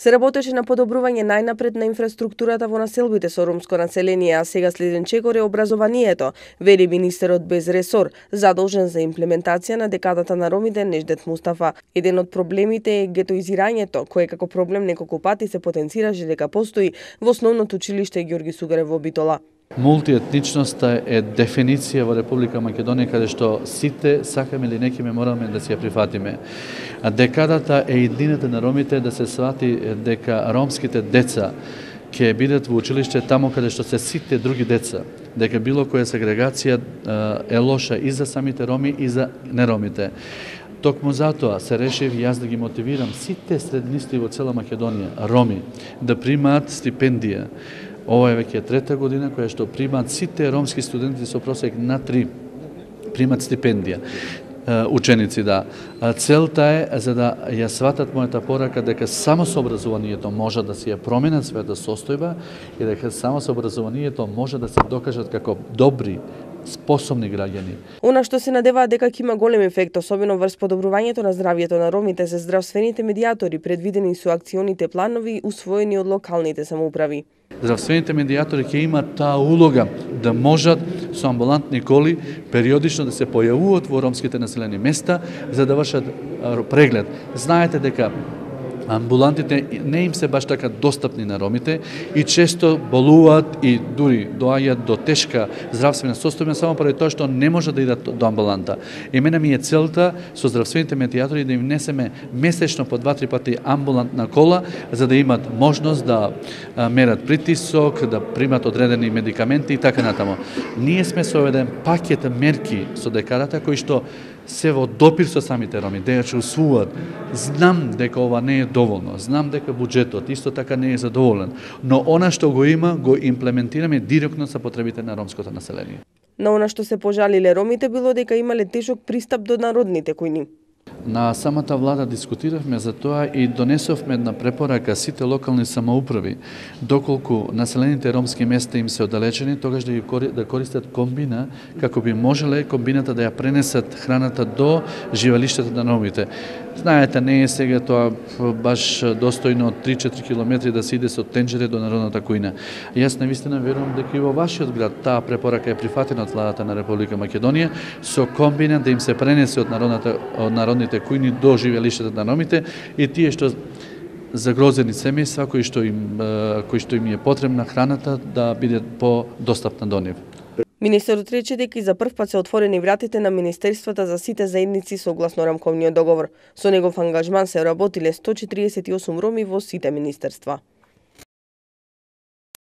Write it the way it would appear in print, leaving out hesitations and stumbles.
Се работеше на подобрување најнапред на инфраструктурата во населбите со ромско население, а сега следен чекор е образованието, вели министерот без ресор, задолжен за имплементација на декадата на ромите Неждет Мустафа. Еден од проблемите е гетоизирањето, кое како проблем неколку пати се потенцираше дека постои во основното училиште Ѓорги Сугарев во Битола. Мултиетничноста е дефиниција во Република Македонија каде што сите сакаме или некиме мораме да си ја прифатиме. Декадата е иднината на ромите да се свати дека ромските деца ќе бидат во училиште таму каде што се сите други деца, дека било која сегрегација е лоша и за самите роми и за неромите. Токму затоа се решив јас да ги мотивирам сите среднисти во цела Македонија, роми, да примаат стипендија. Ова е веќе трета година која што примаат сите ромски студенти со просек на 3 примаат стипендија. Ученици, да. Целта е за да ја сватат мојата порака дека само со образованието може да се ја променат својата состојба и дека само со образованието може да се докажат како добри, способни граѓани. Она што се надеваат дека ќе има голем ефект, особено врз подобрувањето на здравјето на ромите, се здравствените медијатори предвидени со акционите планови усвоени од локалните самоуправи. Здравствените медијатори ќе имаат таа улога да можат со амбулантни коли периодично да се појавуваат во ромските населени места за да вршат преглед. Знаете дека амбулантите не им се баш така достапни на ромите и често болуваат и дури доаѓаат до тешка здравствена состојба само поради тоа што не може да идат до амбуланта. И мене ми е целта со здравствените медијатори да им несеме месечно по 2-3 пати амбулантна кола за да имат можност да мерат притисок, да примат одредени медикаменти и така натаму. Ние сме со еден пакет мерки со декадата кои што се во допир со самите роми, да ја чувствуваат. Знам дека ова не е доволно, знам дека буџетот исто така не е задоволен, но она што го има, го имплементираме директно со потребите на ромското население. На она што се пожалиле ромите било дека имале тешок пристап до народните којни. На самата влада дискутиравме за тоа и донесовме една препорака сите локални самоуправи, доколку населените ромски места им се оддалечени, тогаш да користат комбина, како би можеле комбината да ја пренесат храната до живалиштата на ромите. Знаете, не е сега тоа баш достојно од 3-4 километри да се иде со тенџере до народната кујна. Јас навистина верувам дека и во вашиот град таа препорака е прифатена од владата на Република Македонија со комбина да им се пренесе од народните кујни до живеалиштата на ромите и тие што загрозени семејства кои што им е потребна храната да биде подостапна до нив. Министерот рече дека и за прв пат се отворени вратите на министерствата за сите заедници согласно рамковниот договор. Со негов ангажман се работиле 148 роми во сите министерства.